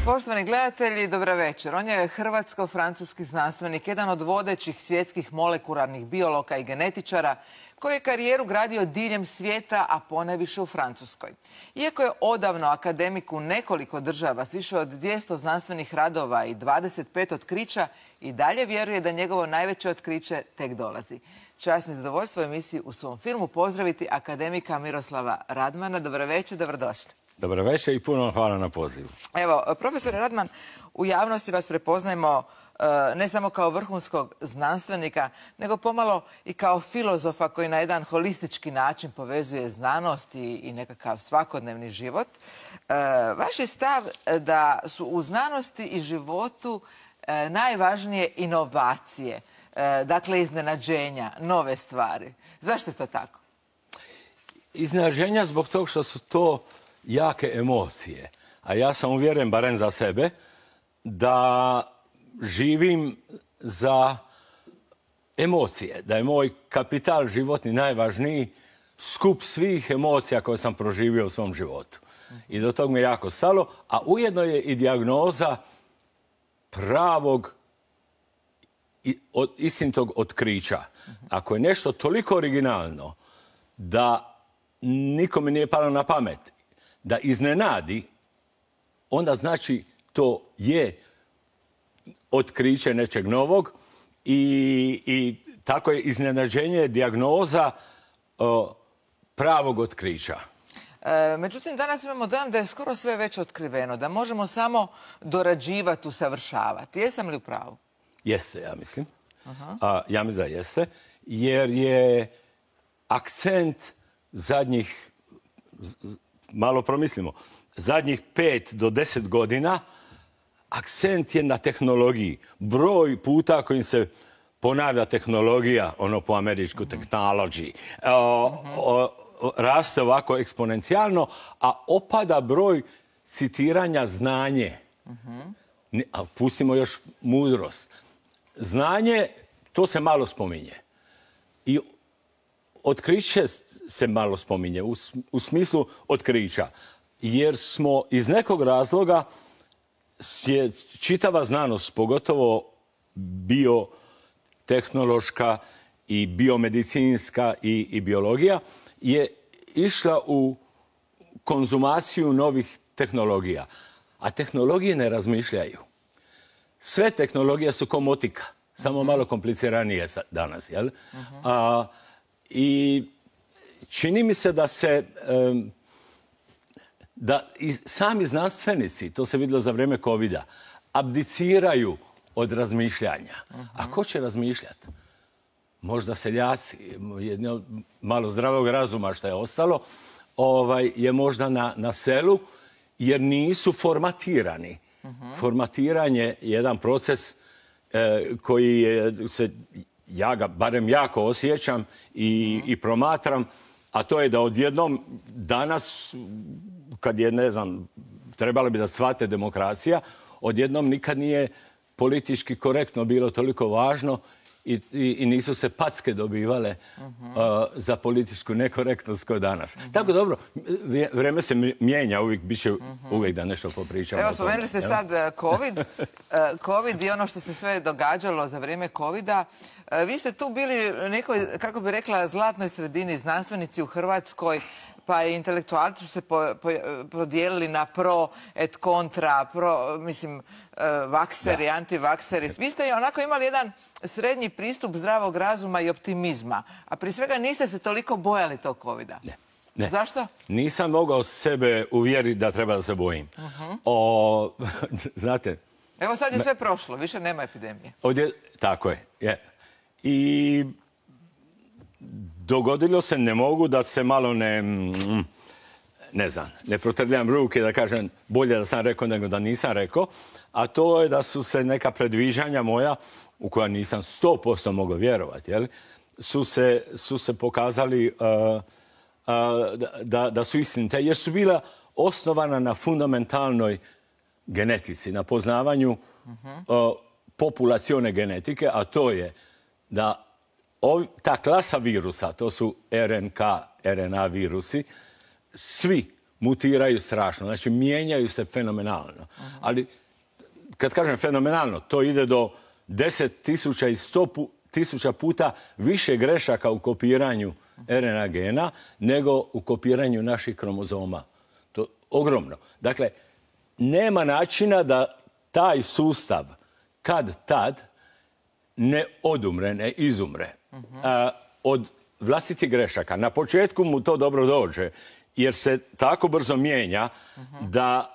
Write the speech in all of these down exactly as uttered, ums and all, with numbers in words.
Poštovani gledatelji, dobra večer. On je hrvatsko-francuski znanstvenik, jedan od vodećih svjetskih molekularnih biologa i genetičara, koji je karijeru gradio diljem svijeta, a ponajviše u Francuskoj. Iako je odavno akademik u nekoliko država s više od dvjesto znanstvenih radova i dvadeset pet otkrića, i dalje vjeruje da njegovo najveće otkriće tek dolazi. Čast mi zadovoljstvo u emisiji u svom filmu pozdraviti akademika Miroslava Radmana. Dobro večer, dobrodošli. Dobro večer i puno hvala na pozivu. Evo, profesore Radman, u javnosti vas prepoznajemo ne samo kao vrhunskog znanstvenika, nego pomalo i kao filozofa koji na jedan holistički način povezuje znanost i nekakav svakodnevni život. Vaš je stav da su u znanosti i životu najvažnije inovacije, dakle iznenađenja, nove stvari. Zašto je to tako? Iznenađenja zbog toga što su to jake emocije. A ja sam uvjeren, barem za sebe, da živim za emocije. Da je moj kapital životni najvažniji skup svih emocija koje sam proživio u svom životu. I do tog mi je jako stalo. A ujedno je i dijagnoza pravog istinitog otkrića. Ako je nešto toliko originalno da nikome nije palo na pamet, da iznenadi, onda znači to je otkriće nečeg novog i, i tako je iznenađenje dijagnoza o, pravog otkrića. E, međutim, danas imamo dojam da je skoro sve već otkriveno, da možemo samo dorađivati, usavršavati. Jesam li u pravu? Jeste, ja mislim. A, ja mislim da jeste, jer je akcent zadnjih, malo promislimo, zadnjih pet do deset godina akcent je na tehnologiji. Broj puta kojim se ponavlja tehnologija, ono po američku technology, o, o, raste ovako eksponencijalno, a opada broj citiranja znanje. A pustimo još mudrost. Znanje, to se malo spominje. I otkriće se malo spominje, u, u smislu otkrića. Jer smo iz nekog razloga je čitava znanost, pogotovo biotehnološka i biomedicinska i, i biologija, je išla u konzumaciju novih tehnologija. A tehnologije ne razmišljaju. Sve tehnologije su ko motika, samo uh-huh. malo kompliciranije danas, jel? Uh-huh. A, i čini mi se da se um, da i sami znanstvenici, to se vidjelo za vrijeme kovida, abdiciraju od razmišljanja. Uh-huh. A ko će razmišljati? Možda seljaci, jedno malo zdravog razuma što je ostalo, ovaj, je možda na, na selu, jer nisu formatirani. Uh-huh. Formatiranje je jedan proces eh, koji je, se, ja ga barem jako osjećam i, uh-huh. i promatram, a to je da odjednom danas, kad je, ne znam, trebalo bi da shvate demokracija, odjednom nikad nije politički korektno bilo toliko važno i, i, i nisu se packe dobivale uh-huh. uh, za političku nekorektnost kao danas. Uh-huh. Tako dobro, vreme se mijenja, uvijek bit će uh-huh. uvijek da nešto popričamo. Evo, spomenuli ste sad COVID. COVID i ono što se sve događalo za vrijeme covida. Vi ste tu bili nekoj, kako bi rekla, zlatnoj sredini, znanstvenici u Hrvatskoj, pa i intelektualci su se po, po, prodijelili na pro et kontra, pro, mislim, uh, vakseri, da. antivakseri. Vi ste onako imali jedan srednji pristup zdravog razuma i optimizma, a prije svega niste se toliko bojali tog covida. Ne. Ne. Zašto? Nisam mogao sebe uvjeriti da treba da se bojim. Uh-huh. O, znate... Evo sad je sve prošlo, više nema epidemije. Ovdje, tako je. je. I dogodilo se, ne mogu da se malo ne... Ne znam, ne protrljam ruke da kažem bolje da sam rekao nego da nisam rekao, a to je da su se neka predviđanja moja, u koja nisam sto posto mogao vjerovati, jel, su, se, su se pokazali uh, uh, da, da su istinite, jer su bila osnovana na fundamentalnoj genetici, na poznavanju uh-huh. uh, populacione genetike, a to je da ov, ta klasa virusa, to su R N K, R N A virusi, svi mutiraju strašno. Znači, mijenjaju se fenomenalno. Ali, kad kažem fenomenalno, to ide do deset tisuća i sto tisuća puta više grešaka u kopiranju er en a gena nego u kopiranju naših kromozoma. To je ogromno. Dakle, nema načina da taj sustav kad tad ne odumre, ne izumre a, od vlastitih grešaka. Na početku mu to dobro dođe, jer se tako brzo mijenja da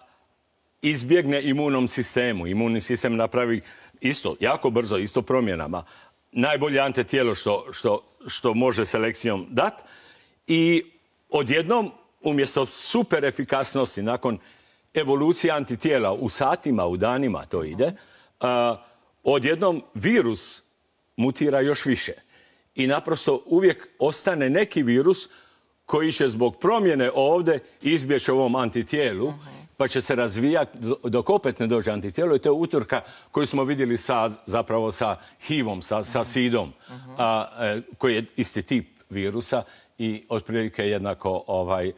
izbjegne imunom sistemu. Imunni sistem napravi isto, jako brzo, isto promjenama. Najbolje antitijelo što, što, što može selekcijom dati. I odjednom, umjesto super efikasnosti, nakon evolucije antitijela u satima, u danima to ide, a, odjednom virus mutira još više. I naprosto uvijek ostane neki virus koji će zbog promjene ovdje izbjeći ovom antitijelu, pa će se razvijati dok opet ne dođe antitijelo. I to je utrka koju smo vidjeli sa, zapravo sa H I V-om, sa, sa sidom, a, a, koji je isti tip virusa i otprilike jednako ovaj,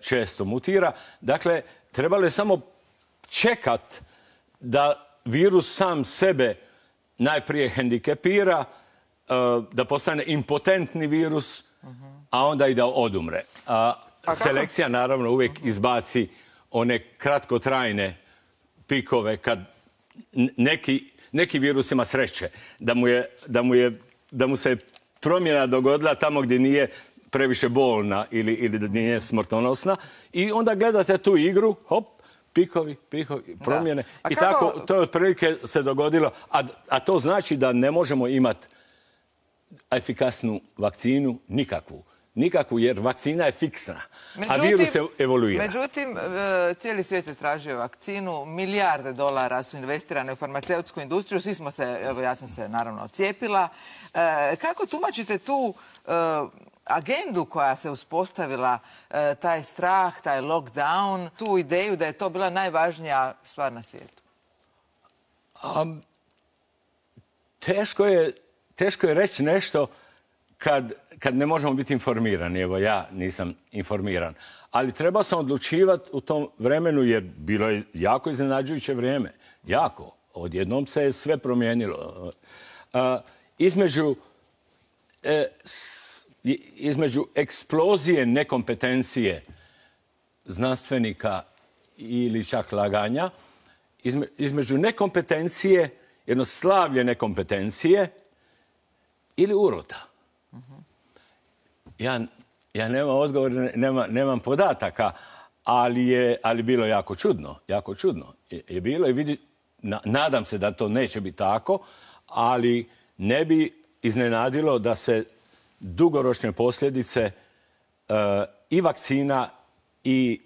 često mutira. Dakle, trebalo je samo čekat da virus sam sebe najprije hendikepira, da postane impotentni virus, a onda i da odumre. A selekcija naravno uvijek izbaci one kratkotrajne pikove kad neki, neki virus ima sreće da mu, je, da, mu je, da mu se promjena dogodila tamo gdje nije previše bolna ili, ili da nije smrtonosna. I onda gledate tu igru, hop, pikovi, pikovi, promjene. I kako... tako to je otprilike se dogodilo. A, a to znači da ne možemo imati efikasnu vakcinu nikakvu. Nikakvu, jer vakcina je fiksna, međutim, a virus se evoluira. Međutim, cijeli svijet je tražio vakcinu, milijarde dolara su investirane u farmaceutsku industriju, svi smo se, evo ja sam se naravno cijepila. E, kako tumačite tu e, agendu koja se uspostavila, e, taj strah, taj lockdown, tu ideju da je to bila najvažnija stvar na svijetu? Um, teško je, teško je reći nešto kad, kad ne možemo biti informirani. Evo, ja nisam informiran. Ali treba sam odlučivati u tom vremenu, jer bilo je jako iznenađujuće vrijeme. Jako. Odjednom se je sve promijenilo. Uh, između, e, s, između eksplozije nekompetencije znanstvenika ili čak laganja, izme, između nekompetencije, jedno slavlje nekompetencije ili urota. Ja, ja nemam odgovor, nema, nemam podataka, ali je ali bilo jako čudno. Jako čudno je, je bilo i vidi, na, nadam se da to neće biti tako, ali ne bi iznenadilo da se dugoročne posljedice uh, i vakcina i,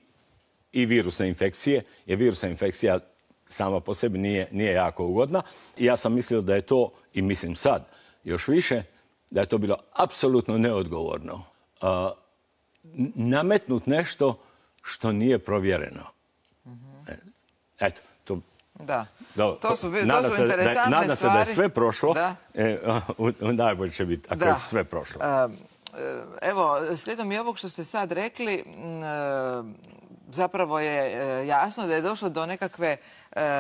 i virusne infekcije, jer virusna infekcija sama po sebi nije, nije jako ugodna. I ja sam mislio da je to, i mislim sad još više, da je to bilo apsolutno neodgovorno. Uh, nametnut nešto što nije provjereno. Mm-hmm. Eto, to... Da, do, to su, to su interesantne stvari. Nadam se da je sve prošlo. Da. E, najbolje će biti ako da. je sve prošlo. Uh, evo, slijedom i ovog što ste sad rekli, uh, zapravo je jasno da je došlo do nekakve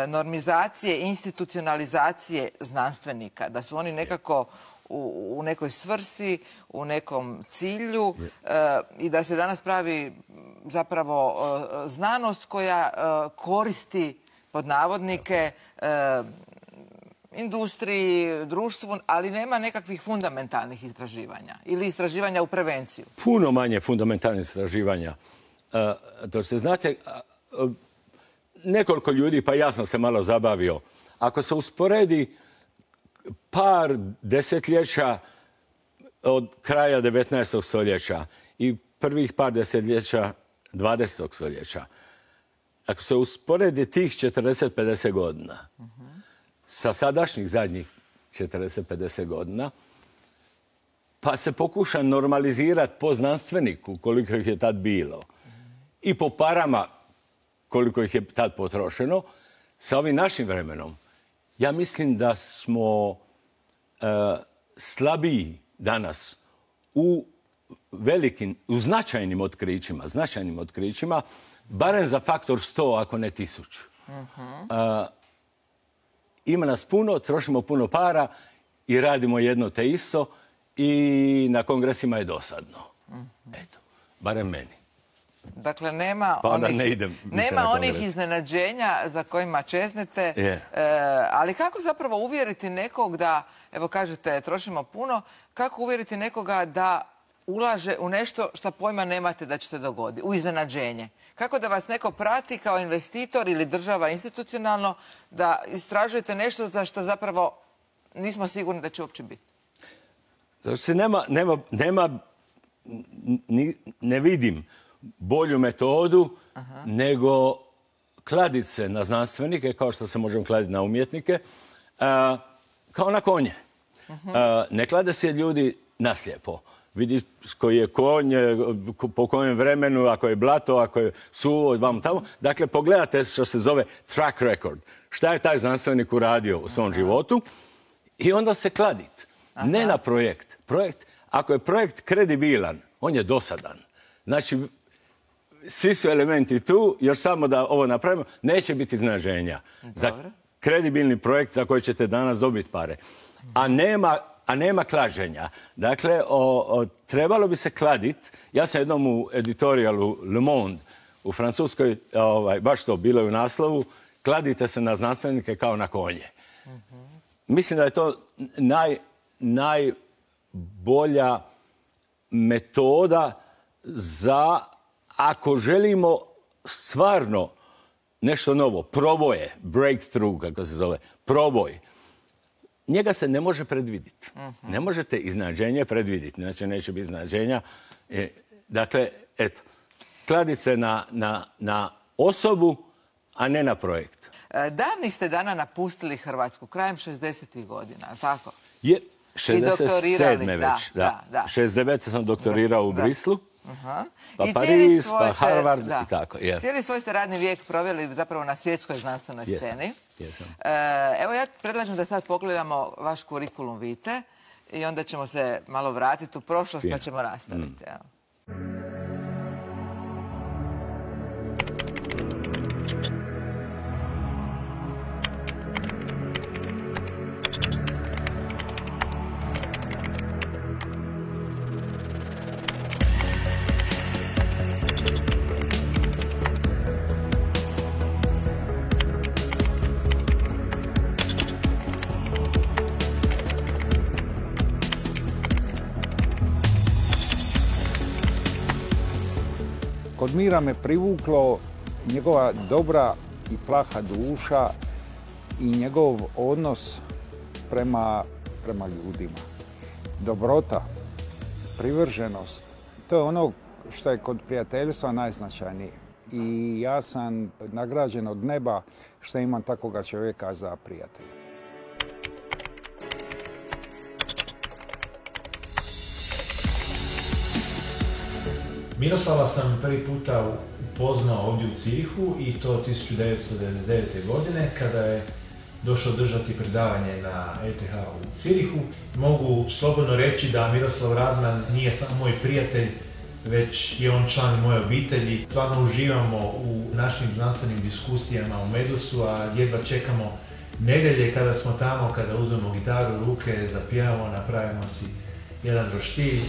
normizacije, institucionalizacije znanstvenika. Da su oni nekako u, u nekoj svrsi, u nekom cilju i da se danas pravi zapravo znanost koja koristi pod navodnike industriji, društvu, ali nema nekakvih fundamentalnih istraživanja ili istraživanja u prevenciju. Puno manje fundamentalnih istraživanja. Uh, to se znate, uh, nekoliko ljudi, pa ja sam se malo zabavio. Ako se usporedi par desetljeća od kraja devetnaestog stoljeća i prvih par desetljeća dvadesetog stoljeća, ako se usporedi tih četrdeset pedeset godina uh-huh. sa sadašnjih zadnjih četrdeset pedeset godina, pa se pokuša normalizirati po znanstveniku koliko ih je tad bilo i po parama koliko ih je tad potrošeno, sa ovim našim vremenom, ja mislim da smo uh, slabiji danas u velikim, u značajnim otkrićima, značajnim otkrićima, barem za faktor sto, ako ne tisuću. Uh-huh. Uh, ima nas puno, trošimo puno para i radimo jedno te isto i na kongresima je dosadno. Uh-huh. Eto, barem meni. Dakle, nema pa onih, ne idem nema onih iznenađenja za kojima čeznete, yeah. e, ali kako zapravo uvjeriti nekog da, evo kažete, trošimo puno, kako uvjeriti nekoga da ulaže u nešto što pojma nemate da će se dogoditi, u iznenađenje? Kako da vas neko prati kao investitor ili država institucionalno, da istražujete nešto za što zapravo nismo sigurni da će uopće biti? Znači, nema, nema, nema, ni, ne vidim bolju metodu Aha. nego kladiti se na znanstvenike, kao što se možemo kladiti na umjetnike, a, kao na konje. A, ne klade se ljudi naslijepo. Vidiš koji je konj, po kojem vremenu, ako je blato, ako je suvo, vam tamo. Dakle, pogledate što se zove track record. Šta je taj znanstvenik uradio u svom Aha. životu i onda se kladiti. Ne na projekt. Projekt. Ako je projekt kredibilan, on je dosadan. Znači, svi su elementi tu, još samo da ovo napravimo, neće biti iznenađenja. Za kredibilni projekt za koji ćete danas dobiti pare. A nema, a nema klađenja. Dakle, o, o, trebalo bi se kladiti. Ja sam jednom u editorijalu Le Monde u Francuskoj, ovaj, baš to bilo je u naslovu, kladite se na znanstvenike kao na konje. Uh-huh. Mislim da je to naj, najbolja metoda za, ako želimo stvarno nešto novo, proboje, breakthrough, kako se zove, proboj, njega se ne može predvidjeti. Uh-huh. Ne možete iznenađenje predvidjeti, znači neće biti iznenađenja. E, dakle, eto, kladi se na, na, na osobu, a ne na projekt. Davnih ste dana napustili Hrvatsku, krajem šezdesetih godina, tako? Je, šezdeset sedme već, da. da, da. šezdeset devete sam doktorirao u da. Brislu. Aha. Pa I Pariz, pa Harvard ste, i tako. Yeah. Cijeli svoj ste radni vijek proveli zapravo na svjetskoj znanstvenoj yes. sceni. Yes. E, evo ja predlažem da sad pogledamo vaš kurikulum vitae i onda ćemo se malo vratiti u prošlost yeah. pa ćemo nastaviti. Mm. Evo. Kod Mira me privuklo njegova dobra i plaha duša i njegov odnos prema, prema ljudima. Dobrota, privrženost, to je ono što je kod prijateljstva najznačajnije. I ja sam nagrađen od neba što imam takvoga čovjeka za prijatelja. Miroslava sam prvi puta upoznao ovdje u Zürichu i to tisuću devetsto devedeset devete. godine kada je došao držati predavanje na E T H u Zürichu. Mogu slobodno reći da Miroslav Radman nije samo moj prijatelj, već je on član moje obitelji. Stvarno uživamo u našim znanstvenim diskusijama u Medusu, a jedva čekamo nedjelje kada smo tamo, kada uzmemo gitaru u ruke, zapijamo, napravimo si jedan roštilj.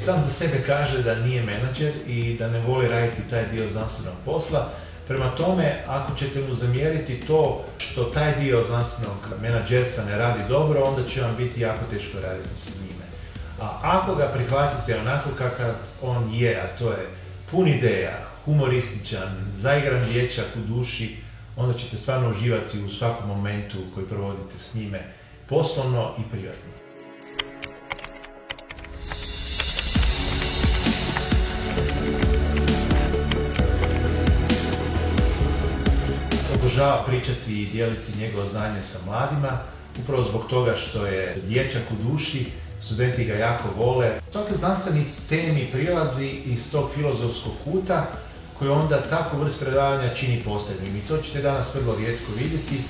Sam za sebe kaže da nije menadžer i da ne voli raditi taj dio znanstvenog posla. Prema tome, ako ćete mu zamjeriti to što taj dio znanstvenog menadžerstva ne radi dobro, onda će vam biti jako teško raditi sa njime. A ako ga prihvatite onako kakav on je, a to je pun ideja, humorističan, zaigran dječak u duši, onda ćete stvarno uživati u svakom momentu koji provodite s njime, poslovno i privatno. obožava pričati i dijeliti njegovo znanje sa mladima, upravo zbog toga što je dječak u duši, studenti ga jako vole. Svaki znanstveni temi prilazi iz tog filozofskog kuta koji onda takvu vrst predavanja čini posebnim. I to ćete danas vrlo rijetko vidjeti.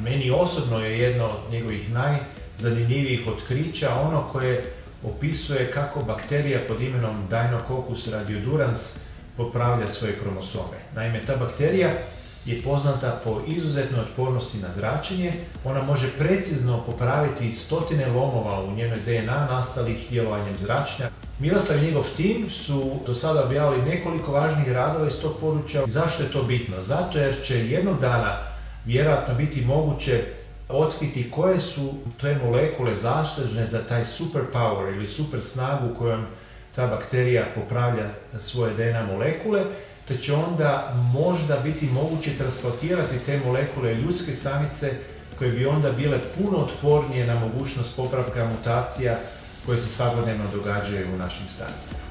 Meni osobno je jedno od njegovih najzanimljivijih otkrića ono koje opisuje kako bakterija pod imenom Deinococcus radiodurans popravlja svoje kromosome. Naime, ta bakterija je poznata po izuzetnoj otpornosti na zračenje. Ona može precizno popraviti stotine lomova u njenoj D N A nastalih djelovanjem zračenja. Miroslav i njegov tim su do sada objavili nekoliko važnih radova iz tog područja. Zašto je to bitno? Zato jer će jednog dana vjerojatno biti moguće otkriti koje su te molekule zaslužne za taj superpower ili super snagu kojom ta bakterija popravlja svoje D N A molekule, te će onda možda biti moguće transplantirati te molekule ljudske stanice koje bi onda bile puno otpornije na mogućnost popravka mutacija koje se svakodnevno događaju u našim stanicama.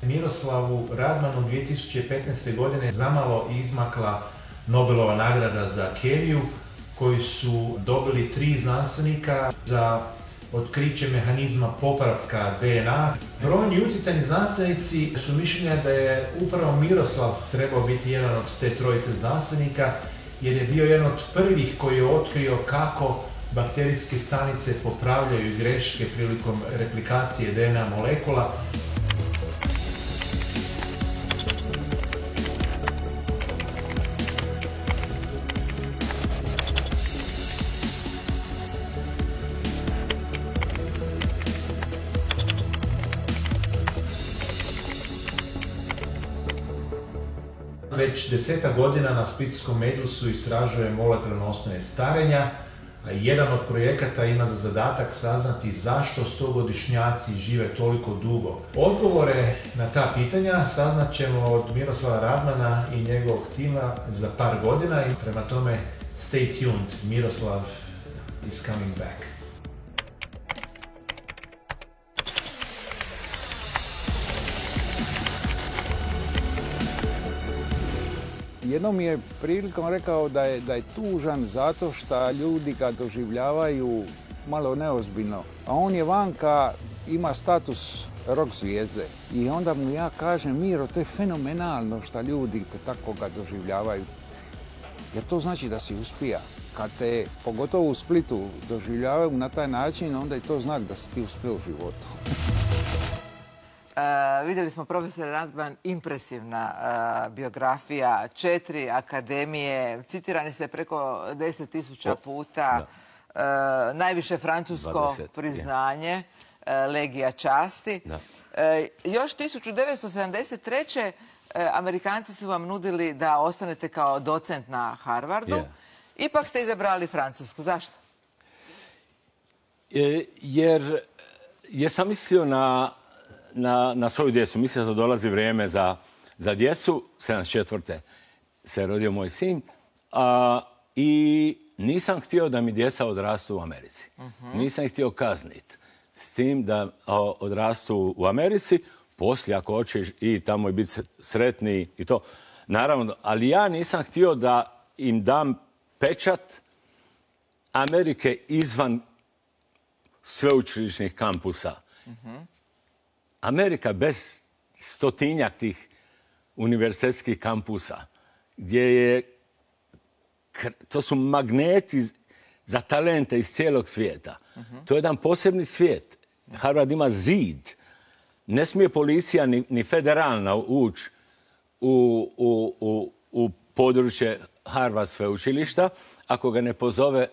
Miroslavu Radmanu dvije tisuće petnaeste. godine zamalo izmakla Nobelova nagrada za kemiju koju su dobili tri znanstvenika za otkriće mehanizma popravka D N A. Brojni utjecajni znanstvenici su mišljenja da je upravo Miroslav trebao biti jedan od te trojice znanstvenika jer je bio jedan od prvih koji je otkrio kako bakterijske stanice popravljaju greške prilikom replikacije D N A molekula. Već deseta godina na Splitskom Medlusu istražuje molekularne osnove starenja, a jedan od projekata ima za zadatak saznati zašto stogodišnjaci žive toliko dugo. Odgovore na ta pitanja saznat ćemo od Miroslava Radmana i njegovog tima za par godina i prema tome stay tuned, Miroslav is coming back. Jednom mi je prilikom rekao da je, da je tužan zato što ljudi ga doživljavaju malo neozbiljno. A on je vanka, ima status rock zvijezde. I onda mu ja kažem, Miro, to je fenomenalno što ljudi te tako ga doživljavaju. Jer to znači da si uspija. Kad te, pogotovo u Splitu, doživljavaju na taj način, onda je to znak da si ti uspio u životu. Uh, vidjeli smo, profesor Radman, impresivna uh, biografija, četiri akademije, citirani se preko deset tisuća puta, uh, najviše francusko dvadeset priznanje, uh, Legija časti. Uh, još tisuću devetsto sedamdeset treće. Uh, Amerikanci su vam nudili da ostanete kao docent na Harvardu. Yeah. Ipak ste izabrali Francusku. Zašto? E, jer, jer sam mislio na Na, na svoju djecu. Mislio da dolazi vrijeme za, za djecu. sedamdeset četvrte se rodio moj sin. A, I nisam htio da mi djeca odrastu u Americi. Uh-huh. Nisam ih htio kazniti s tim da a, odrastu u Americi. Poslije, ako hoćeš i tamo i biti sretni i to. Naravno, ali ja nisam htio da im dam pečat Amerike izvan sveučilišnih kampusa. Uh-huh. Amerika bez stotinjak tih univerzitetskih kampusa, gdje je, to su magneti za talente iz cijelog svijeta. Uh-huh. To je jedan posebni svijet. Harvard ima zid. Ne smije policija ni, ni federalna ući u, u, u, u područje Harvard sveučilišta ako ga ne pozove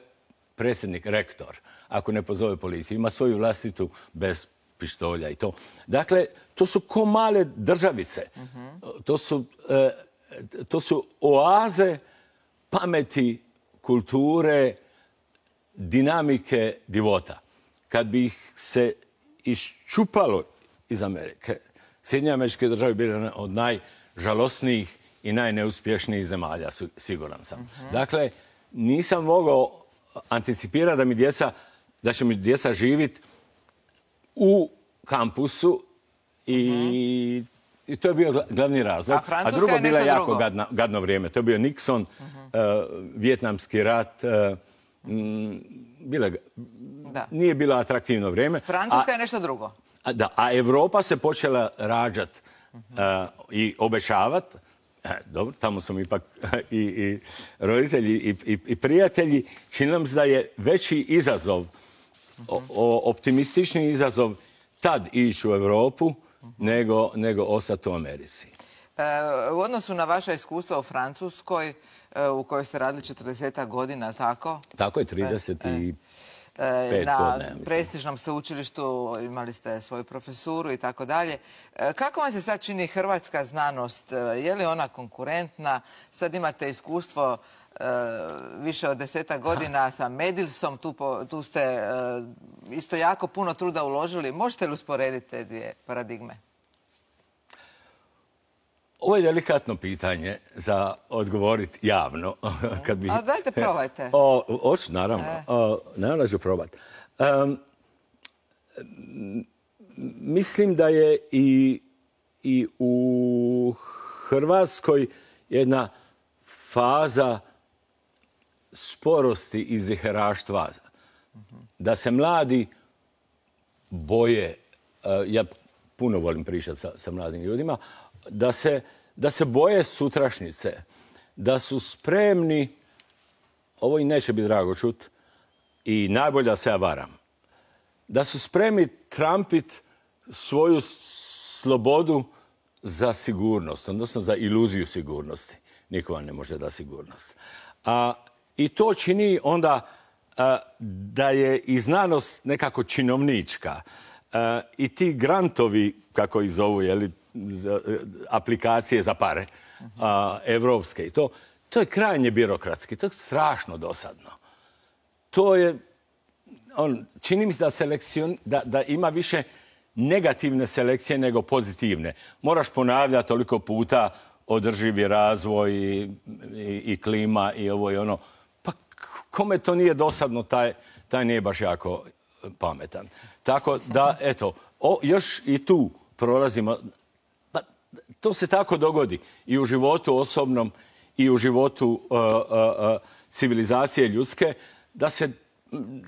predsjednik, rektor, ako ne pozove policiju. Ima svoju vlastitu bez pištolja i to. Dakle, to su ko male državice. Uh-huh. To su e, to su oaze pameti, kulture, dinamike života. Kad bi ih se iščupalo iz Amerike, Sjedinjene Američke Države bile jedna od najžalosnijih i najneuspješnijih zemalja, siguran sam. Uh-huh. Dakle, nisam mogao anticipirati da mi djeca, da će mi djeca živjeti u kampusu i, uh-huh. i to je bio glavni razlog. A Francuska A drugo je bilo nešto jako drugo. gadno, gadno vrijeme. To je bio Nixon, uh-huh. uh, Vijetnamski rat, uh, m, bile, da. nije bilo atraktivno vrijeme. Francuska a, je nešto drugo. A, da, a Europa se počela rađati uh-huh. uh, i obećavati. Dobro, tamo su mi ipak i, i roditelji i, i, i prijatelji. Čini nam se da je veći izazov, uh-huh. o, o, optimistični izazov tad ići u Europu uh-huh. nego, nego ostati u Americi. E, u odnosu na vaša iskustva u Francuskoj, e, u kojoj ste radili četrdeset godina, tako? Tako je, trideset i pet na prestižnom sveučilištu imali ste svoju profesuru i tako dalje. Kako vam se sad čini hrvatska znanost? Je li ona konkurentna? Sad imate iskustvo e, više od deseta godina Aha. sa Medilsom. Tu, po, tu ste e, isto jako puno truda uložili. Možete li usporediti te dvije paradigme? Ovo je delikatno pitanje za odgovoriti javno. Kad bi... A dajte, probajte. O, oću, naravno. E. O, naravno ću probati. Um, mislim da je i, i u Hrvatskoj jedna faza sporosti i ziheraštva. Da se mladi boje. Uh, ja puno volim pričati sa, sa mladim ljudima. Da se, da se boje sutrašnjice, da su spremni, ovo i neće biti drago čut, i najbolje da se ja varam, da su spremni trampit svoju slobodu za sigurnost, odnosno za iluziju sigurnosti. Niko vam ne može da sigurnost. A, I to čini onda a, da je i znanost nekako činovnička. A, I ti grantovi, kako ih zovu, jeli, aplikacije za pare, a, evropske i to, to je krajnje birokratski, to je strašno dosadno. To je, on, čini mi se da, selekcion, da, da ima više negativne selekcije nego pozitivne. Moraš ponavljati toliko puta održivi razvoj i, i, i klima i ovo i ono. Pa kome to nije dosadno, taj, taj nije baš jako pametan. Tako da, eto, o, još i tu prolazimo. To se tako dogodi i u životu osobnom i u životu uh, uh, uh, civilizacije ljudske, da se um,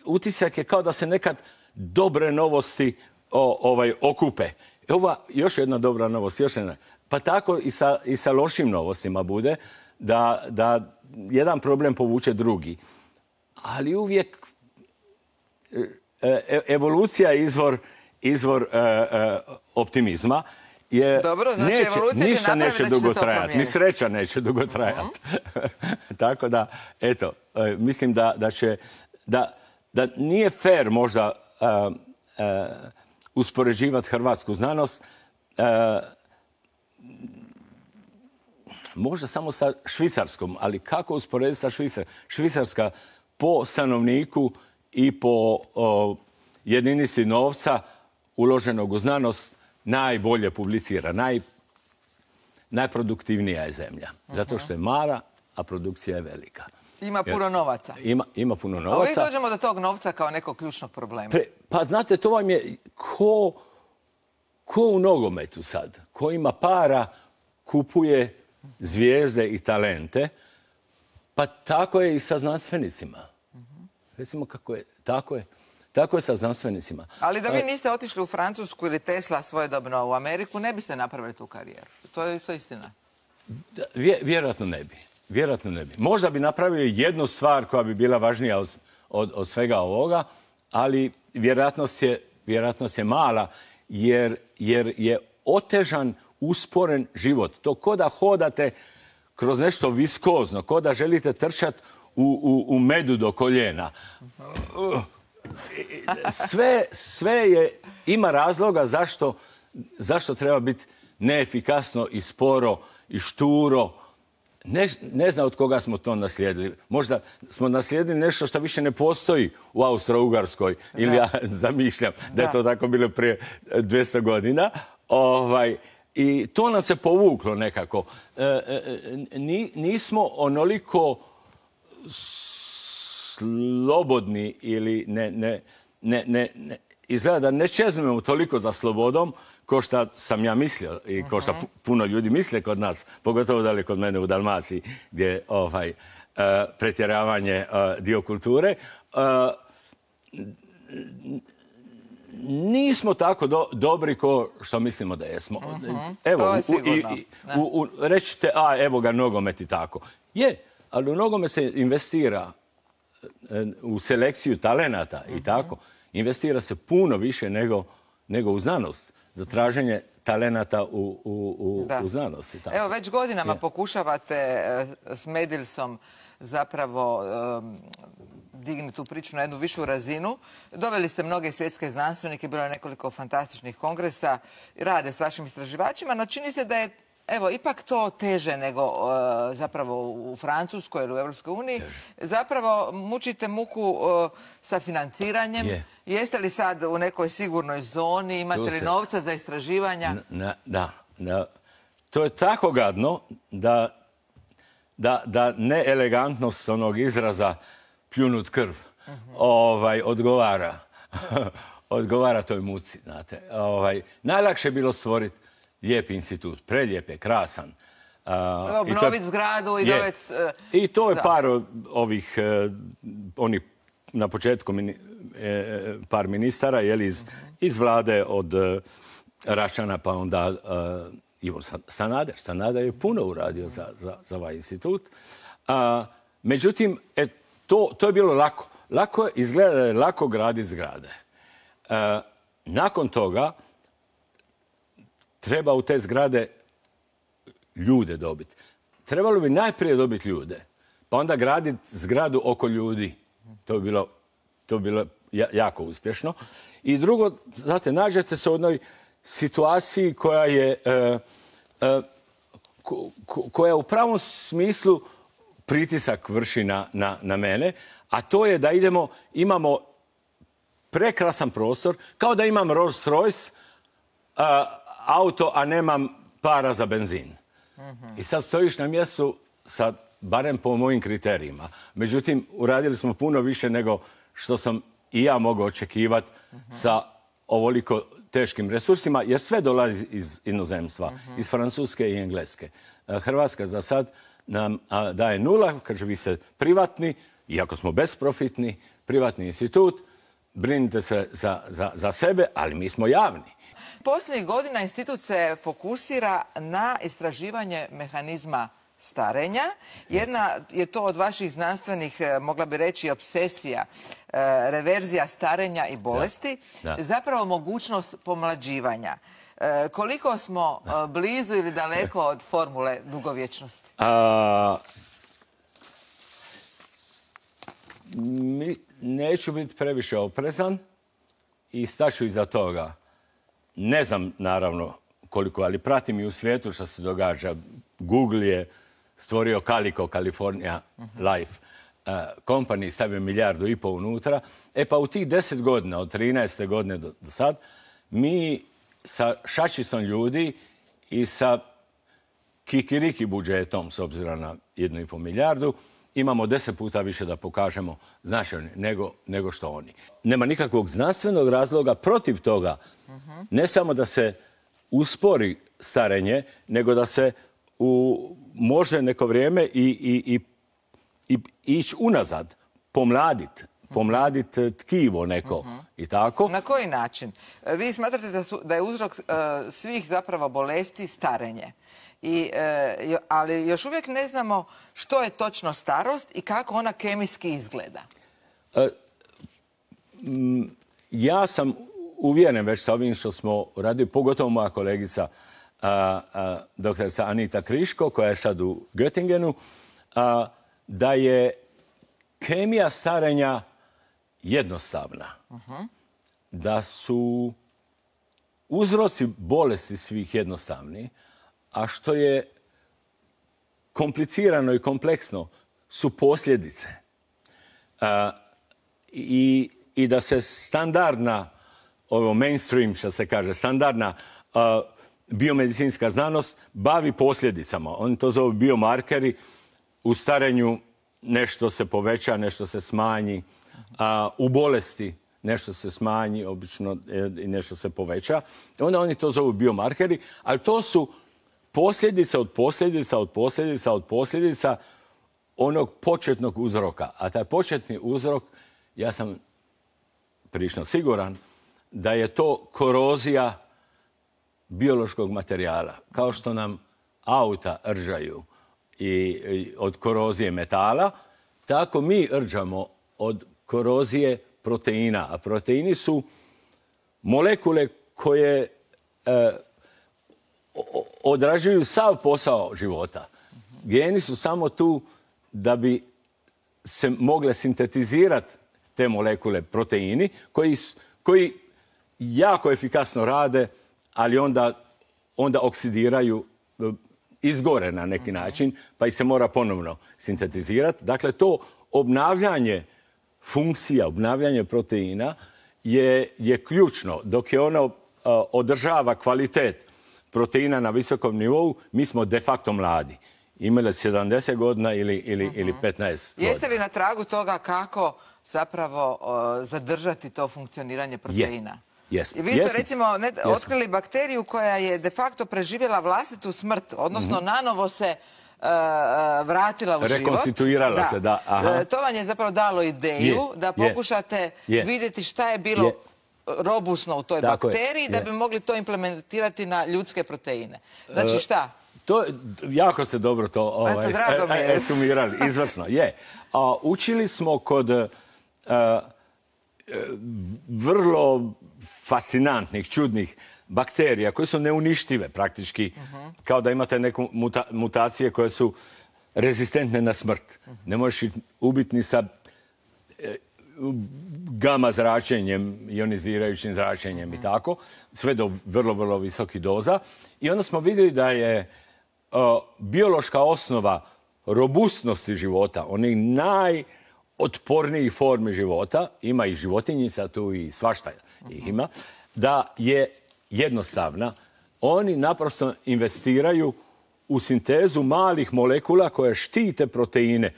utisak je kao da se nekad dobre novosti o, ovaj, okupe. I ova još jedna dobra novost, još jedna. Pa tako i sa, i sa lošim novostima bude da, da jedan problem povuče drugi. Ali uvijek e, evolucija je izvor, izvor e, e, optimizma. Je, dobro, znači neće, evolucija ništa će neće da dugo će trajati. Ni sreća neće dugo trajati. Uh-huh. Tako da, eto, mislim da, da će, da, da nije fair možda uh, uh, uspoređivati hrvatsku znanost uh, možda samo sa švicarskom, ali kako usporediti sa Švicarskom? Švicarska po stanovniku i po uh, jedinici novca uloženog u znanost najbolje publicira, naj, najproduktivnija je zemlja. Zato što je mala, a produkcija je velika. Ima puno novaca. Ima, ima puno novaca. A uvijek dođemo do tog novca kao nekog ključnog problema. Pre, pa znate, to vam je ko, ko u nogometu sad. Ko ima para, kupuje zvijezde i talente. Pa tako je i sa znanstvenicima. Recimo kako je. Tako je. Tako je sa znanstvenicima. Ali da vi niste otišli u Francusku ili Tesla svojedobno u Ameriku, ne biste napravili tu karijeru. To je isto istina. Da, vje, vjerojatno ne bi. Vjerojatno ne bi. Možda bi napravio jednu stvar koja bi bila važnija od, od, od svega ovoga, ali vjerojatnost je, vjerojatnost je mala jer, jer je otežan, usporen život. To ko da hodate kroz nešto viskozno, ko da želite trčati u, u, u medu do koljena. Uh. Sve, sve je, ima razloga zašto, zašto treba biti neefikasno i sporo i šturo. Ne, ne znam od koga smo to naslijedili. Možda smo naslijedili nešto što više ne postoji u Austro-Ugarskoj. Ili ja zamišljam da je to tako bilo prije dvjesto godina. Ovaj, I to nam se povuklo nekako. E, e, ni, nismo onoliko slobodni ili ne, ne, ne, ne, ne izgleda da ne čezmemo toliko za slobodom ko što sam ja mislio i ko što puno ljudi misle kod nas, pogotovo da li kod mene u Dalmaciji, gdje je ovaj, uh, pretjeravanje uh, dio kulture. Uh, nismo tako do, dobri ko što mislimo da jesmo. Uh-huh. Evo, to je u, sigurno. i, u, u, rećete, a evo ga nogomet i tako. Je, ali u nogomet se investira u selekciju talenata i tako. Investira se puno više nego, nego u znanost. Za traženje talenata u, u, u, u znanosti. Tako. Evo, već godinama je. pokušavate uh, s Medilsom zapravo um, digni tu priču na jednu višu razinu. Doveli ste mnoge svjetske znanstvenike, bilo je nekoliko fantastičnih kongresa, rade s vašim istraživačima, no čini se da je evo, ipak to teže nego uh, zapravo u Francuskoj ili u Europskoj uniji. Zapravo mučite muku uh, sa financiranjem. Je. Jeste li sad u nekoj sigurnoj zoni? Imate li novca za istraživanja? Na, da, da. To je tako gadno da, da, da neelegantnost onog izraza pljunut krv uh-huh. ovaj, odgovara. odgovara toj muci, znate. Ovaj, najlakše je bilo stvoriti lijep institut, prelijep je, krasan. Uh, Obnoviti zgradu i dovesti... Uh, I to je da. par ovih, uh, onih na početku mini, eh, par ministara, jeli, iz, uh-huh. iz vlade od uh, Račana pa onda uh, Ivo Sanader. Sanader je puno uradio za, za, za ovaj institut. Uh, međutim, et, to, to je bilo lako. Lako izgleda da je lako graditi zgrade. Uh, nakon toga treba u te zgrade ljude dobiti. Trebalo bi najprije dobiti ljude, pa onda graditi zgradu oko ljudi. To bi bilo, to bi bilo jako uspješno. I drugo, znate, nađete se u jednoj situaciji koja je uh, uh, ko, koja u pravom smislu pritisak vrši na, na, na mene, a to je da idemo, imamo prekrasan prostor, kao da imam Rolls Royce, uh, auto, a nemam para za benzin. Uh-huh. I sad stojiš na mjestu sa, barem po mojim kriterijima. Međutim, uradili smo puno više nego što sam i ja mogao očekivati uh-huh. sa ovoliko teškim resursima, jer sve dolazi iz inozemstva, uh-huh. iz Francuske i Engleske. Hrvatska za sad nam a, daje nula, kaže vi ste privatni, iako smo besprofitni, privatni institut, brinite se za, za, za sebe, ali mi smo javni. Posljednjih godina institut se fokusira na istraživanje mehanizma starenja. Jedna je to od vaših znanstvenih, mogla bi reći, obsesija, reverzija starenja i bolesti, da, da. zapravo mogućnost pomlađivanja. Koliko smo da. blizu ili daleko od formule dugovječnosti? A, mi, neću biti previše oprezan i staću iza toga. Ne znam, naravno, koliko, ali pratim i u svijetu što se događa. Google je stvorio Calico, California uh-huh. Life uh, Company, stavio milijardu i pol unutra. E pa u tih deset godina, od trinaeste godine do, do sad, mi sa šačicom ljudi i sa kikiriki budžetom, s obzirom na jednu i pol milijardu, imamo deset puta više da pokažemo značajno nego, nego što oni. Nema nikakvog znanstvenog razloga protiv toga. Uh-huh. Ne samo da se uspori starenje, nego da se u, može neko vrijeme i, i, i, i ići unazad, pomladiti. Pomladiti tkivo neko uh-huh. i tako. Na koji način? Vi smatrate da, su, da je uzrok uh, svih zapravo bolesti starenje. I, uh, ali još uvijek ne znamo što je točno starost i kako ona kemijski izgleda. Uh, m, ja sam uvjeren već sa ovim što smo radili, pogotovo moja kolegica uh, uh, doktorica Anita Kriško, koja je sad u Göttingenu, uh, da je kemija starenja jednostavna. Uh-huh. Da su uzroci bolesti svih jednostavni, a što je komplicirano i kompleksno su posljedice. A, i, I da se standardna, ovo mainstream, što se kaže, standardna a, biomedicinska znanost bavi posljedicama. Oni to zovu biomarkeri. U starenju nešto se poveća, nešto se smanji. A, u bolesti nešto se smanji, obično i nešto se poveća. Onda oni to zovu biomarkeri, ali to su posljedica od posljedica od posljedica od posljedica onog početnog uzroka. A taj početni uzrok, ja sam prilično siguran, da je to korozija biološkog materijala. Kao što nam auta rđaju i, i od korozije metala, tako mi rđamo od korozije proteina. A proteini su molekule koje e, odrađuju sav posao života. Geni su samo tu da bi se mogle sintetizirati te molekule proteini koji, koji jako efikasno rade, ali onda, onda oksidiraju, izgore na neki način, pa ih se mora ponovno sintetizirati. Dakle, to obnavljanje funkcija, obnavljanje proteina je, je ključno. Dok je ono uh, održava kvalitet proteina na visokom nivou, mi smo de facto mladi. Imali sedamdeset godina ili, ili, uh-huh. ili petnaest godina. Jeste li na tragu toga kako zapravo uh, zadržati to funkcioniranje proteina? Jesmo. I vi ste Jesmo. recimo ne, Jesmo. otkrili bakteriju koja je de facto preživjela vlastitu smrt, odnosno mm-hmm. nanovo se uh, vratila u život. Rekonstituirala da. se, da. Aha. To vam je zapravo dalo ideju je. da pokušate je. vidjeti šta je bilo je. robusno u toj Tako bakteriji je. da bi mogli to implementirati na ljudske proteine. Znači šta? To, jako se dobro to ovaj, Eto, e, e, sumirali, izvrsno. Je. A, učili smo kod uh, vrlo fascinantnih, čudnih bakterija koje su neuništive praktički, uh-huh. kao da imate neke muta, mutacije koje su rezistentne na smrt. Uh-huh. Ne možeš ih ubiti ni sa e, gama zračenjem, ionizirajućim zračenjem uh-huh. i tako, sve do vrlo, vrlo visokih doza. I onda smo vidjeli da je o, biološka osnova robustnosti života, onih najotpornijih formi života, ima i životinjica tu i svašta ih ima, da je jednostavna. Oni naprosto investiraju u sintezu malih molekula koje štite proteine,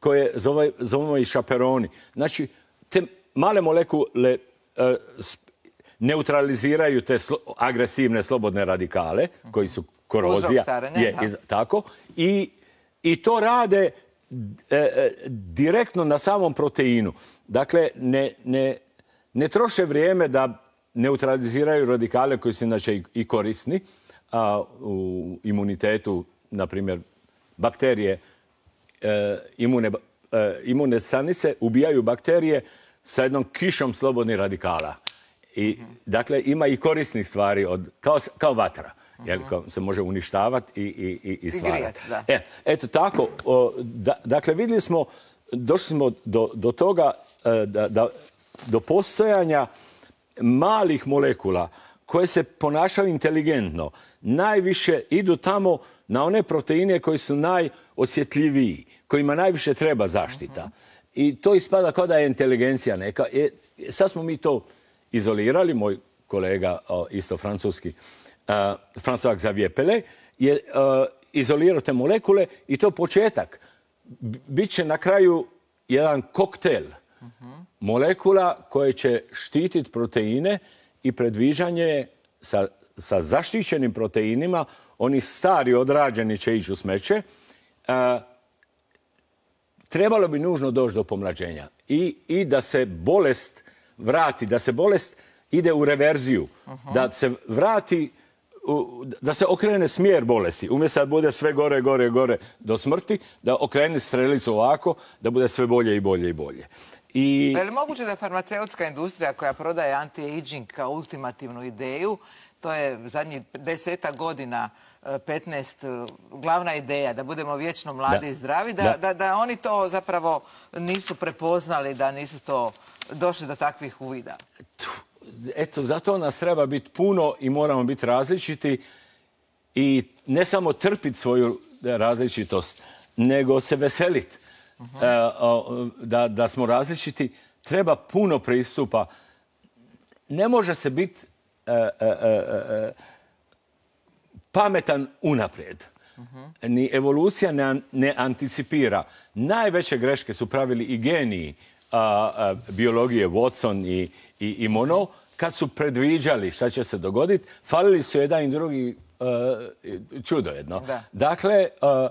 koje zove, zovemo i šaperoni. Znači, te male molekule e, neutraliziraju te slo, agresivne slobodne radikale, koji su korozija. Je, iz, tako. I, I to rade e, e, direktno na samom proteinu. Dakle, ne, ne, ne troše vrijeme da neutraliziraju radikale koji su inače i, i korisni a, u imunitetu, na primjer, bakterije, e, imune, e, imune stanice ubijaju bakterije sa jednom kišom slobodnih radikala. I, dakle, ima i korisnih stvari, od, kao, kao vatra. Jer se može uništavati i, i, i stvarati. E, eto tako, o, da, dakle, vidjeli smo, došli smo do, do toga, da, da, do postojanja malih molekula koje se ponašaju inteligentno. Najviše idu tamo na one proteine koji su najosjetljiviji, kojima najviše treba zaštita. I to ispada kao da je inteligencija neka. E, sad smo mi to izolirali, moj kolega, o, isto francuski, Uh, François Xavier Pelé je uh, izolirao te molekule i to početak. Biće na kraju jedan koktel uh-huh. molekula koje će štititi proteine i predviđanje sa, sa zaštićenim proteinima, oni stari odrađeni će ići u smeće. Uh, trebalo bi nužno doći do pomlađenja i, i da se bolest vrati, da se bolest ide u reverziju, uh-huh. da se vrati da se okrene smjer bolesti. Umjesto da bude sve gore, gore, gore do smrti, da okrene strelicu ovako, da bude sve bolje i bolje i bolje. I... Je li moguće da farmaceutska industrija koja prodaje anti-aging kao ultimativnu ideju, to je zadnjih deseta godina, petnaest, glavna ideja, da budemo vječno mladi da. i zdravi, da, da. Da, da oni to zapravo nisu prepoznali, da nisu to došli do takvih uvida? eto, zato nas treba biti puno i moramo biti različiti i ne samo trpiti svoju različitost, nego se veseliti uh-huh. da, da smo različiti. Treba puno pristupa. Ne može se biti uh, uh, uh, pametan unaprijed. Uh-huh. Ni evolucija ne, ne anticipira. Najveće greške su pravili i geniji uh, uh, biologije, Watson i, i, i Monod, kad su predviđali šta će se dogoditi. Falili su jedan i drugi uh, čudo jedno. Da. Dakle, uh,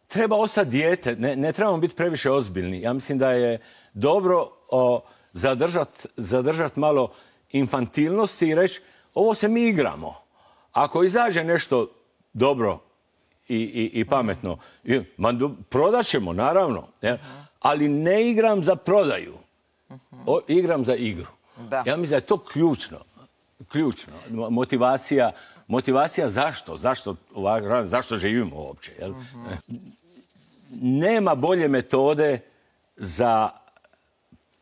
treba ostati dijete. Ne, ne trebamo biti previše ozbiljni. Ja mislim da je dobro uh, zadržati zadržat malo infantilnosti i reći ovo se mi igramo. Ako izađe nešto dobro i, i, i pametno, uh-huh. prodat ćemo, naravno. Uh-huh. Ali ne igram za prodaju. Uh-huh. O, igram za igru. Da. Ja mislim da je to ključno. Ključno. Motivacija, motivacija zašto? Zašto, zašto živimo uopće? Jel? Uh-huh. Nema bolje metode za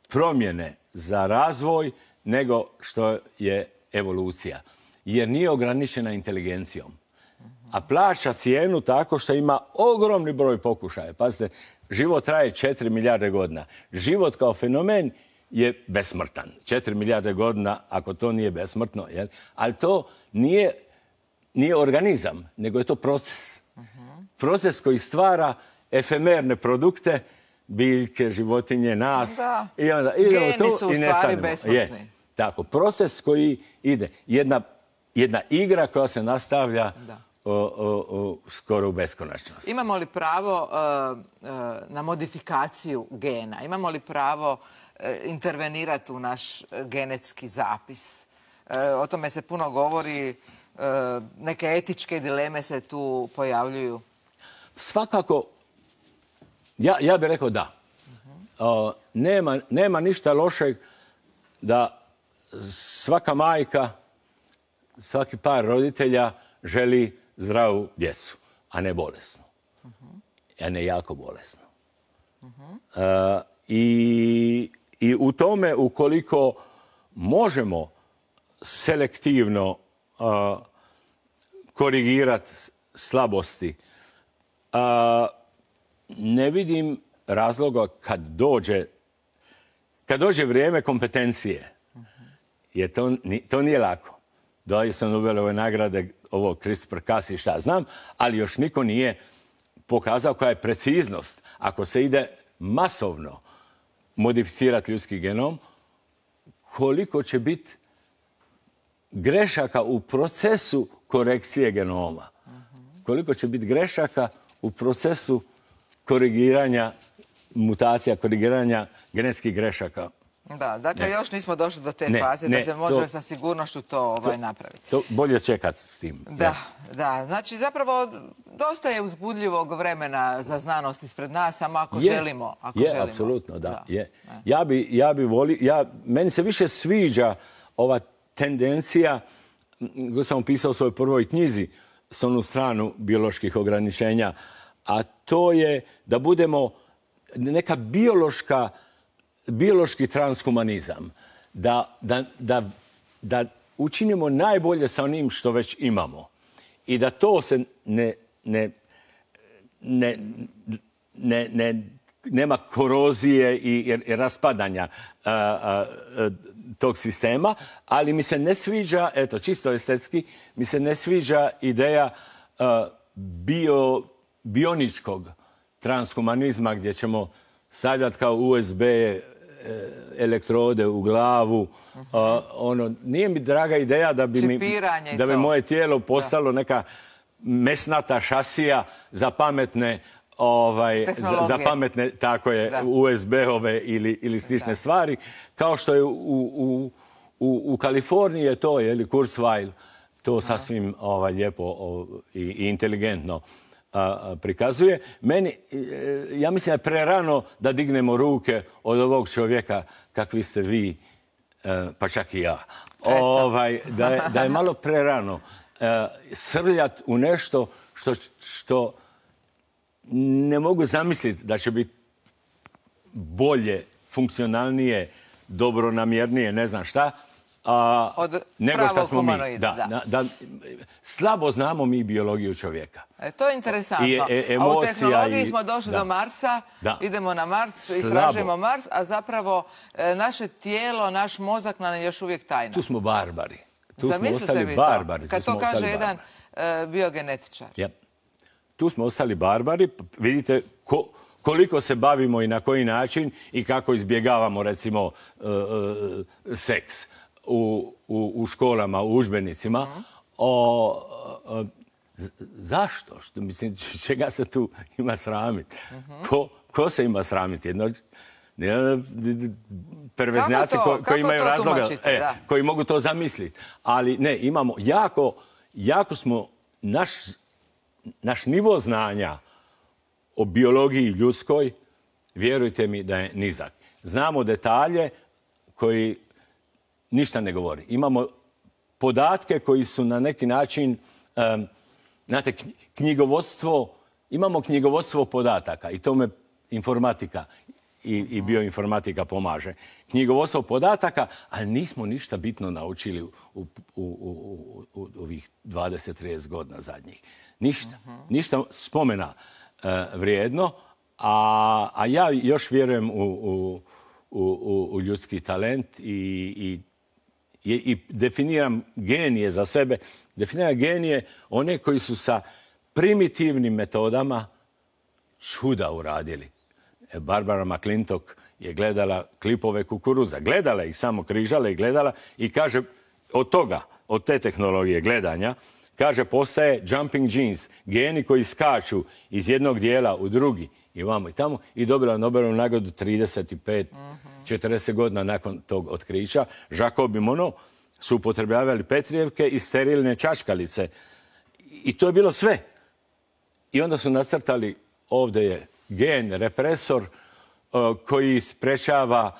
promjene, za razvoj, nego što je evolucija. Jer nije ograničena inteligencijom. A plaća cijenu tako što ima ogromni broj pokušaja. Pazite, život traje četiri milijarde godina. Život kao fenomen je besmrtan. četiri milijarde godina, ako to nije besmrtno. Jel? Ali to nije, nije organizam, nego je to proces. Uh-huh. Proces koji stvara efemerne produkte, biljke, životinje, nas. Da. I onda Geni to su u i stvari besmrtni. Je. Tako, proces koji ide. Jedna, jedna igra koja se nastavlja o, o, o, skoro u beskonačnost. Imamo li pravo uh, uh, na modifikaciju gena? Imamo li pravo uh, intervenirati u naš genetski zapis? Uh, o tome se puno govori. Uh, neke etičke dileme se tu pojavljuju. Svakako, ja, ja bih rekao da. Uh-huh. Uh, nema, nema ništa lošeg da svaka majka, svaki par roditelja želi zdravu djecu, a ne bolesnu. Uh-huh. A ne jako bolesnu. Uh-huh. Uh, i, I u tome, ukoliko možemo selektivno uh, korigirati slabosti, uh, ne vidim razloga kad dođe, kad dođe vrijeme kompetencije. Jer to, to nije lako. Dobio sam Nobelove nagrade, ovo CRISPR-Cas i šta znam, ali još niko nije pokazao koja je preciznost. Ako se ide masovno modificirati ljudski genom, koliko će biti grešaka u procesu korekcije genoma. Koliko će biti grešaka u procesu korigiranja mutacija, korigiranja genetskih grešaka. Da, dakle, ne. još nismo došli do te ne, faze ne, da se može to, sa sigurnošću to, ovaj, to napraviti. To bolje čekati s tim. Da, ja. da. Znači, zapravo, dosta je uzbudljivog vremena za znanost ispred nas, samo ako je, želimo. Ako je, želimo. apsolutno, da. da. Je. Ja bi, ja bi volio, ja, meni se više sviđa ova tendencija, koju sam opisao u svojoj prvoj knjizi, s onu stranu bioloških ograničenja, a to je da budemo neka biološka biološki transhumanizam, da, da, da, da učinimo najbolje sa onim što već imamo i da to se ne, ne, ne, ne, ne, nema korozije i, i raspadanja a, a, a, tog sistema, ali mi se ne sviđa, eto, čisto estetski, mi se ne sviđa ideja a, bio, bioničkog transhumanizma gdje ćemo stavljati kao U S B elektrode u glavu. Uh-huh. Uh, ono, nije mi draga ideja da bi, mi, da bi moje tijelo postalo da. neka mesnata šasija za pametne ovaj, za, za pametne tako je, U S B-ove ili, ili slične da. stvari. Kao što je u, u, u, u Kaliforniji je to, je li Kurzweil, to sasvim ovaj, lijepo o, i, i inteligentno A, prikazuje. Meni, ja mislim da je prerano da dignemo ruke od ovog čovjeka kakvi ste vi, pa čak i ja. Ovaj, da, je, da je malo prerano srljati u nešto što, što ne mogu zamisliti da će biti bolje, funkcionalnije, dobronamjernije, ne znam šta, a, od nego što smo mi. humanoida. Da, da. Da, slabo znamo mi biologiju čovjeka. E, to je interesantno. I, e, a u tehnologiji i, smo došli da. do Marsa, da. idemo na Mars, Slabo. istražujemo Mars, a zapravo e, naše tijelo, naš mozak nam je još uvijek tajna. Tu smo barbari. Tu Zamislite smo ostali vi barbari. to, kad to kaže jedan e, biogenetičar. Ja. Tu smo ostali barbari. Vidite ko, koliko se bavimo i na koji način i kako izbjegavamo, recimo, uh, uh, seks u, u, u školama, u udžbenicima. Mm. O, o, zašto? Što, mislim, čega se tu ima sramiti? Mm-hmm. Ko, ko se ima sramiti? Jedno, perveznjaci ko, koji imaju razloga, e, koji mogu to zamisliti. Ali ne, imamo jako, jako smo, naš, naš nivo znanja o biologiji ljudskoj, vjerujte mi da je nizak. Znamo detalje koji ništa ne govori. Imamo podatke koji su na neki način, um, znate, knjigovodstvo, imamo knjigovodstvo podataka i tome informatika i, i bioinformatika pomaže. Knjigovodstvo podataka, ali nismo ništa bitno naučili u, u, u, u, u ovih dvadeset trideset godina zadnjih. Ništa. Uh-huh. Ništa spomena uh, vrijedno, a, a ja još vjerujem u, u, u, u ljudski talent i, i, i, i definiram genije za sebe. Definiram genije one koji su sa primitivnim metodama čuda uradili. Barbara McClintock je gledala klipove kukuruza. Gledala ih, samo križala i gledala i kaže od toga, od te tehnologije gledanja, kaže postaje jumping genes, geni koji skaču iz jednog dijela u drugi i vamo i tamo i dobila Nobelovu nagradu trideset pet četrdeset godina nakon tog otkrića. Jacob i Monod su upotrebljavali petrijevke i sterilne čačkalice i to je bilo sve. I onda su nacrtali, ovdje je gen, represor, koji sprečava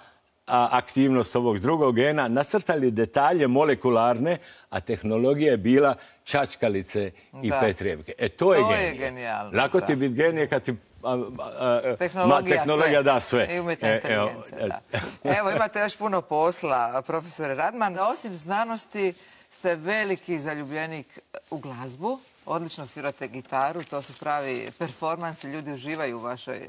aktivnost ovog drugog gena, nacrtali detalje molekularne, a tehnologija je bila čačkalice i da. petrijevke. E, to, to je genije. Je genijalno. Lako ti biti genije kad ti a, a, a, tehnologija, ma, tehnologija da sve. I umjetna e, inteligencija, evo, da. Evo, imate još puno posla, profesore Radman. Osim znanosti, ste veliki zaljubljenik u glazbu. Odlično svirate gitaru, to su pravi performansi, ljudi uživaju u vašoj e,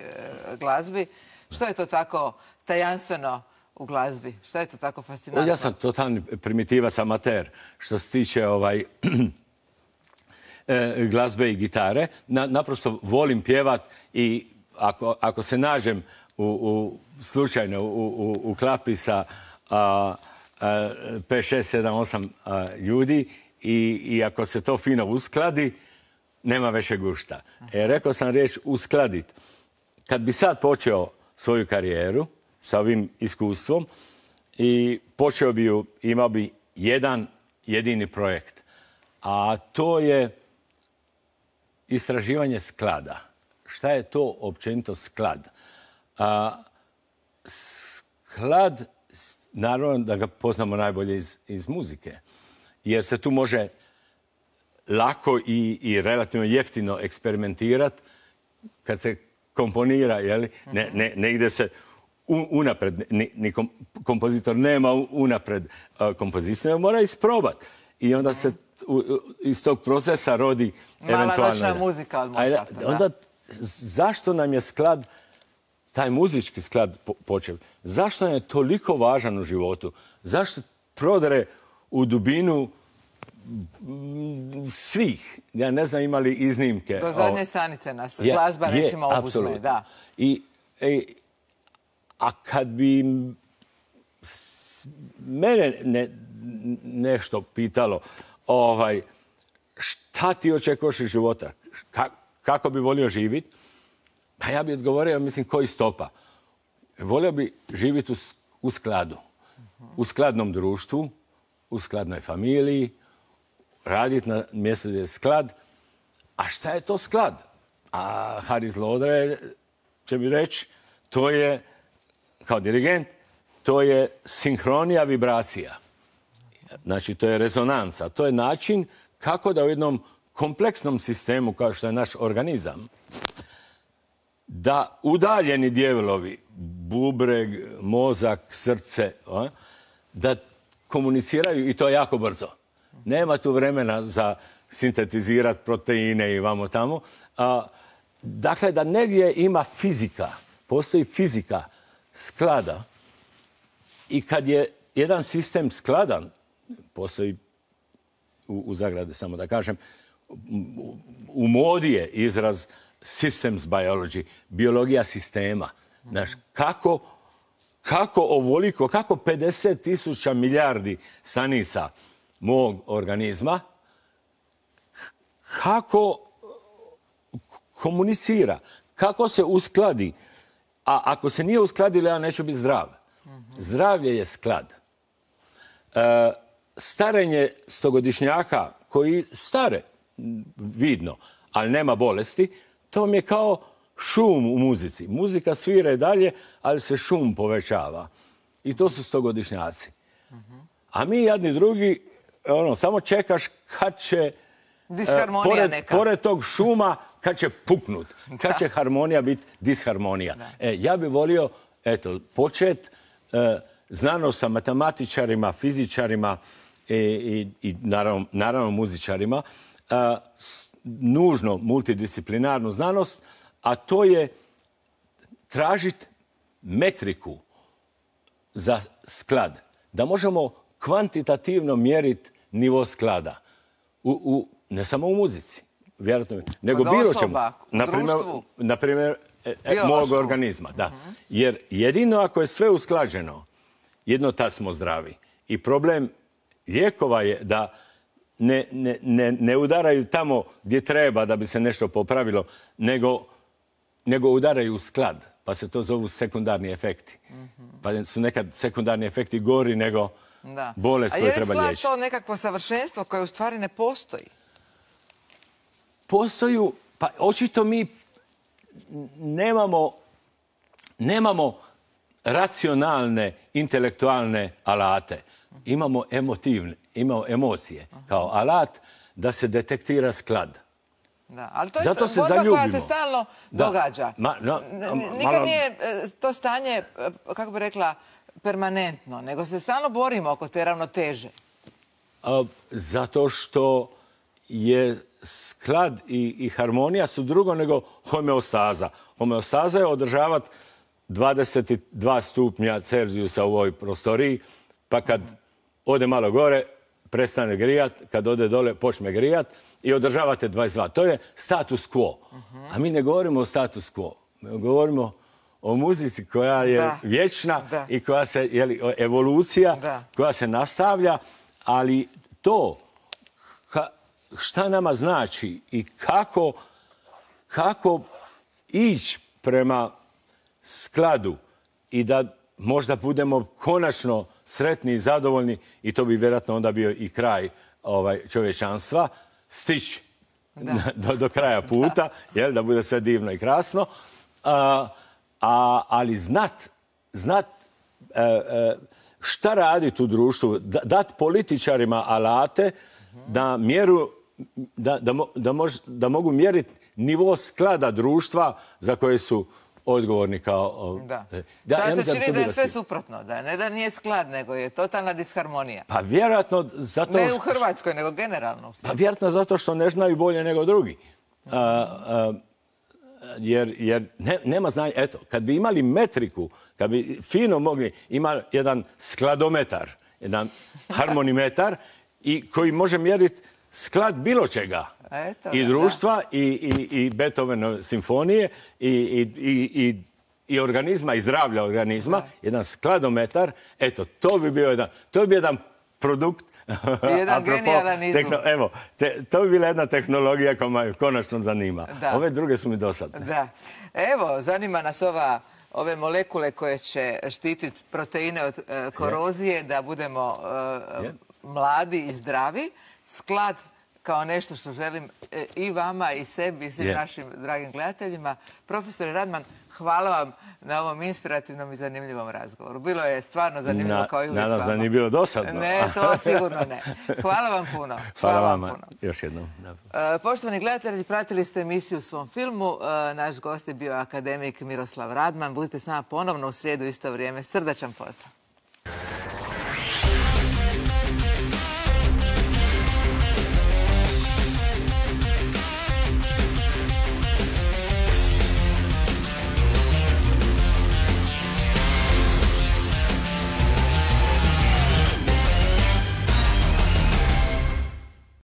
glazbi. Što je to tako tajanstveno u glazbi? Što je to tako fascinantno? Ja sam totalni primitivac, amater, što se tiče ovaj, e, glazbe i gitare. Na, naprosto volim pjevat i ako, ako se nađem u, u, slučajno u, u, u klapi sa a, a, pet, šest, sedam, osam a, ljudi, I, I ako se to fino uskladi, nema veće gušta. E, rekao sam riječ uskladit. Kad bi sad počeo svoju karijeru sa ovim iskustvom i počeo bi ju, imao bi jedan jedini projekt. A to je istraživanje sklada. Šta je to općenito sklad? A, sklad, naravno da ga poznamo najbolje iz, iz muzike. Jer se tu može lako i, i relativno jeftino eksperimentirati kad se komponira, jeli? Ne, ne, ne ide se u, unapred, ni, ni kom, kompozitor nema unapred uh, kompoziciju, mora isprobati. I onda se u, u, iz tog procesa rodi eventualno... Mala noćna muzika od Mozarta, da. Onda, zašto nam je sklad, taj muzički sklad po, počeo, zašto nam je toliko važan u životu? Zašto prodare u dubinu svih, ja ne znam imali iznimke. Do zadnje stanice nas je, glazba je, recimo obuzme, da. I, e, a kad bi mene ne, nešto pitalo, ovaj, šta ti očekuješ iz života? Ka, kako bi volio živjeti? Pa ja bi odgovorio, mislim, koji stopa. Volio bi živjeti u, u skladu. U skladnom društvu, u skladnoj familiji, raditi na mjestu gdje je sklad. A šta je to sklad? A Haris Lodre će mi reći, to je, kao dirigent, to je sinhronija vibracija. Znači, to je rezonanca. To je način kako da u jednom kompleksnom sistemu, kao što je naš organizam, da udaljeni dijelovi, bubreg, mozak, srce, da komuniciraju i to jako brzo. Nema tu vremena za sintetizirati proteine i vamo tamo. A, dakle, da negdje ima fizika, postoji fizika sklada i kad je jedan sistem skladan, postoji u, u zagradi, samo da kažem, u, u modi je izraz systems biology, biologija sistema. Znaš, kako, kako ovoliko, kako pedeset tisuća milijardi stanica mog organizma, kako komunicira, kako se uskladi. A ako se nije uskladilo, ja neću biti zdrav. Zdravlje je sklad. E, starenje stogodišnjaka koji stare, vidno, ali nema bolesti, to mi je kao šum u muzici. Muzika svira i dalje, ali se šum povećava. I to su stogodišnjaci. A mi jedni drugi, ono, samo čekaš kad će disharmonija pored, neka. Pored tog šuma, kad će puknut, kad će harmonija biti disharmonija. E, ja bih volio, eto, počet e, znanost sa matematičarima, fizičarima i, i, i naravno, naravno muzičarima, e, s, nužno multidisciplinarnu znanost, a to je tražiti metriku za sklad. Da možemo kvantitativno mjeriti nivo sklada. U, u, ne samo u muzici, vjerojatno, nego bilo čemu. Na primjer, e, mog organizma. Da. Uh-huh. Jer jedino ako je sve usklađeno, jedno tad smo zdravi. I problem lijekova je da ne, ne, ne, ne udaraju tamo gdje treba da bi se nešto popravilo, nego, nego udaraju u sklad. Pa se to zovu sekundarni efekti. Uh-huh. Pa su nekad sekundarni efekti gori nego da. bolest koju treba liječiti. A je li sklad to nekakvo savršenstvo koje u stvari ne postoji? Postoju, pa očito mi nemamo, nemamo racionalne, intelektualne alate. Imamo emotivne, imamo emocije kao alat da se detektira sklad. Da, ali to je Zato se borba zaljubimo. koja se stalno da. događa. Ma, no, Nikad malo... nije to stanje, kako bi rekla, permanentno, nego se stalno borimo oko te ravnoteže. A, zato što je sklad i, i harmonija su drugo nego homeostaza. Homeostaza je održavati dvadeset dva stupnja Celzijusa u ovoj prostoriji, pa kad ode malo gore, prestane grijat, kad ode dole, počne grijat i održavate dvadeset dva. To je status quo. A mi ne govorimo o status quo. Mi govorimo o muzici koja je da. vječna da. i koja se, jeli, evolucija da. koja se nastavlja, ali to ka, šta nama znači i kako, kako ići prema skladu i da možda budemo konačno sretni i zadovoljni, i to bi vjerojatno onda bio i kraj ovaj, čovječanstva, stići do, do kraja puta, da. Jel, da bude sve divno i krasno, a, a, ali znat, znat e, e, šta raditi u društvu, da, dat političarima alate da, mjeru, da, da, da, mož, da mogu mjeriti nivo sklada društva za koje su odgovorni kao... Da. Da, sad ja se čini da je sve suprotno. Da ne da nije sklad, nego je totalna disharmonija. Pa vjerojatno zato... Ne u Hrvatskoj, nego generalno. Pa vjerojatno zato što ne znaju bolje nego drugi. A, a, jer jer ne, nema znanja. Eto, kad bi imali metriku, kad bi fino mogli, ima jedan skladometar, jedan harmonimetar i koji može mjeriti sklad bilo čega. Eto, I društva, i, i, i Beethovenove simfonije, i, i, i, i organizma, i zdravlja organizma, da. jedan skladometar. Eto, to bi bio jedan, to bi bio jedan produkt. Jedan genijalan izum. Tehno, evo, te, to bi bila jedna tehnologija koja me konačno zanima. Da. Ove druge su mi dosadne. Da. Evo, zanima nas ova, ove molekule koje će štititi proteine od uh, korozije, je. da budemo uh, mladi i zdravi. Sklad kao nešto što želim i vama, i sebi, i svim yeah. našim dragim gledateljima. Profesore Radman, hvala vam na ovom inspirativnom i zanimljivom razgovoru. Bilo je stvarno zanimljivo na, kao i uvijek s vama. Nadam se da nije bilo dosadno. Ne, to sigurno ne. Hvala vam puno. Hvala, hvala vam puno. Još jednom. Uh, poštovani gledatelji, pratili ste emisiju u svom filmu. Uh, naš gost je bio akademik Miroslav Radman. Budite s nama ponovno u srijedu isto vrijeme. Srdačan pozdrav.